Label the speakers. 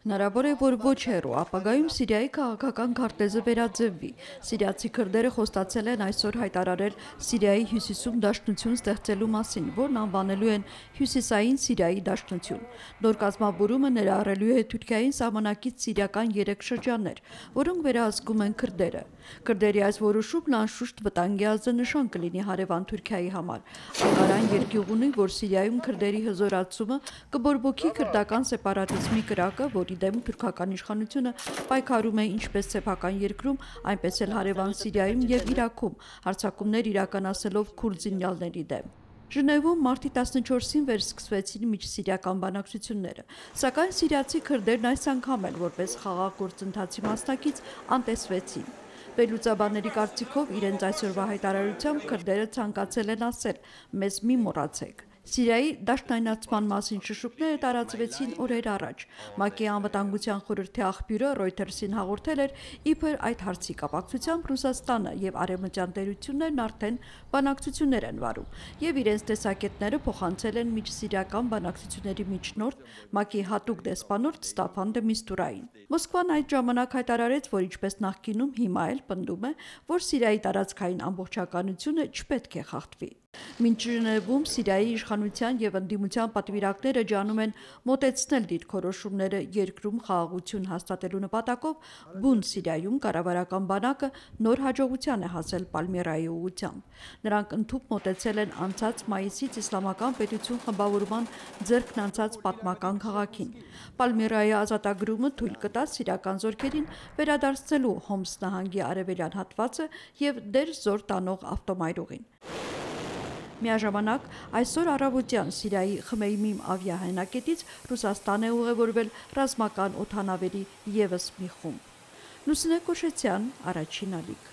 Speaker 1: Հնարավոր է, որ ոչ հեռու ապագայում Սիրիայի քաղաքական քարտեզը վերաձևվի։ Սիրիացի քրդերը խոստացել են այսօր հայտարարել Սիրիայի հյուսիսում դաշնություն ստեղծելու մասին, որն անվանելու են Հյուսիսային Սիրիայի դաշնություն։ Նոր կազմավորումը ներառելու է Թուրքիային սահմանակից սիրիական 3 շրջաններ, որոնք վերահսկում են քրդերը։ Քրդերի այս որոշումն անշուշտ վտանգի ազդանշան կլինի հարևան Թուրքիայի համար։ Անկարան երկյուղ ունի, որ Սիրիայում քրդերի հզորացումը կբորբոքի քրդական սեպարատիզմի կրակը, որի դեմ թուրքական իշխանությունը պայքարում է ինչպես սեփական երկրում, այնպես էլ հարևան Սիրիայում եւ Իրաքում, հարձակումներ իրականացնելով քուրդ զինյալների դեմ։ Ժնևում մարտի 14-ին վերսկսվեցին միջսիրիական բանակցությունները, սակայն սիրիացի քրդերն այս անգամ էլ որպես խաղաղ գործընթացի մասնակից անտեսվեցին։ Վերլուծաբանների կարծիքով իրենց այսօրվա հայտարարությամբ քրդերը ցանկացել են ասել. «Մեզ մի մոռացեք»։ Սիրիայի դաշնայնացման մասին շշուկները տարածվեցին օրեր առաջ։ ՄԱԿ-ի անվտանգության խորհրդի աղբյուրը Reuters-ին հաղորդել էր, իբր այդ հարցի կապակցությամբ Ռուսաստանը եւ արևմտյան տերություններն արդեն բանակցություններ են վարում եւ իրենց տեսակետները փոխանցել են միջսիրիական բանակցությունների միջնորդ ՄԱԿ-ի հատուկ դեսպանորդ Ստաֆան դե Միստուրային։ Մոսկվան այդ ժամանակ հայտարարեց, որ ինչպես նախկինում հիմա էլ պնդում է, որ Սիրիայի տարածքային ամբողջականությունը չպետք է խախտվի։ Մինչ Ժնևում Սիրիայի իշխանության եւ ընդդիմության պատվիրակները ջանում են մոտեցնել դիրքորոշումները երկրում խաղաղություն հաստատելու նպատակով, բուն Սիրիայում կառավարական բանակը նոր հաջողության է հասել Պալմիրայի ուղղությամբ։ Նրանք ընդհուպ մոտեցել են անցած մայիսից Իսլամական պետություն խմբավորման ձեռքն անցած պատմական քաղաքին։ Պալմիրայի ազատագրումը թույլ կտա սիրիական զորքերին վերադարձնելու Հոմս նահանգի արևելյան հատվածը եւ դեր զոր տանող ավտոմայրուղին։ Միաժամանակ այսօր առավոտյան Սիրիայի Խմեյմիմ ավիահայնակետից Ռուսաստան է ուղևորվել ռազմական օդանավերի ևս մի խումբ։ Լուսինե Կոշեցյան, Առաջին ալիք։